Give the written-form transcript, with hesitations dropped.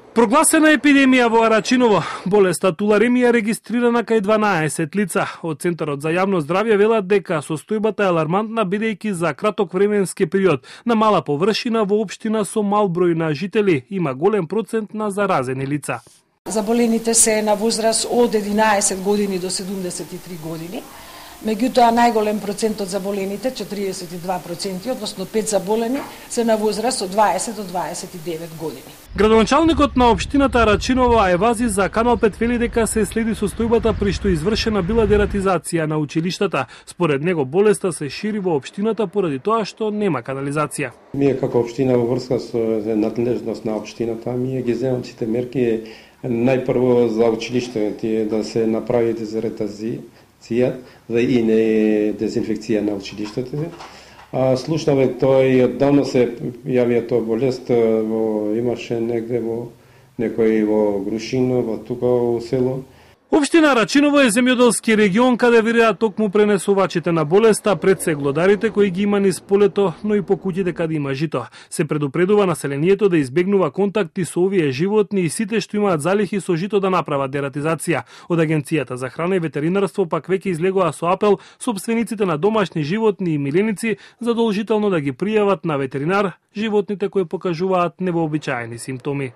Прогласена епидемија во Арачиново. Болеста туларемија регистрирана кај 12 лица. Од Центарот за јавно здравје велат дека состојбата е алармантна бидејќи за краток временски период на мала површина во општина со мал број на жители има голем процент на заразени лица. Заболените се на возраст од 11 години до 73 години. Меѓутоа, најголем процент од заболените, 42%, односно 5 заболени, се на возраст од 20 до 29 години. Градоначалникот на општината Арачиново Евази за Канал 5 вели дека се следи состојбата при што извршена била дератизација на училиштата. Според него болеста се шири во општината поради тоа што нема канализација. Ние како општина во врска со надлежност на општината, ние ги земаме сите мерки. Најпрво за училиштето да се направи дератизација и не дезинфекција на училиштето. Слушнаве тој оддавна се јавија тоа болест, имаше негде во некој во Грушино, во тука во село. Општина Арачиново е земјоделски регион каде виреат токму пренесувачите на болеста, пред се глодарите кои ги има низ полето, но и по куќите каде има жито. Се предупредува населението да избегнува контакти со овие животни и сите што имаат залихи со жито да направат дератизација. Од Агенцијата за храна и ветеринарство пак веќе излегува со апел сопствениците на домашни животни и миленици задолжително да ги пријават на ветеринар животните кои покажуваат невообичаени симптоми.